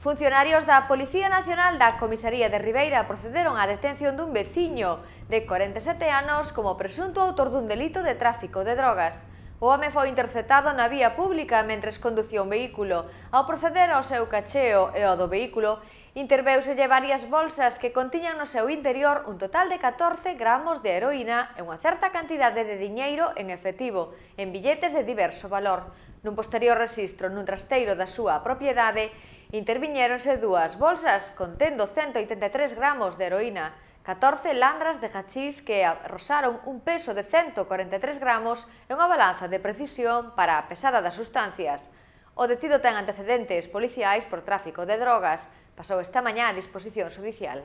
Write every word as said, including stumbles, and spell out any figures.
Funcionarios da Policía Nacional da Comisaría de Ribeira procederon á detención dun veciño de corenta e sete anos como presunto autor dun delito de tráfico de drogas. O home foi interceptado na vía pública mentres conducía un vehículo. Ao proceder ao seu cacheo e ao do vehículo, intervéuselle varias bolsas que contiñan no seu interior un total de catorce gramos de heroína e unha certa cantidade de diñeiro en efectivo, en billetes de diverso valor. Nun posterior rexistro nun trasteiro da súa propiedade, interviñéronse dúas bolsas contendo cento oitenta e tres gramos de heroína, catorce landras de hachís que arrosaron un peso de cento corenta e tres gramos e unha balanza de precisión para a pesada das sustancias. O detido ten antecedentes policiais por tráfico de drogas. Pasou esta mañá a disposición xudicial.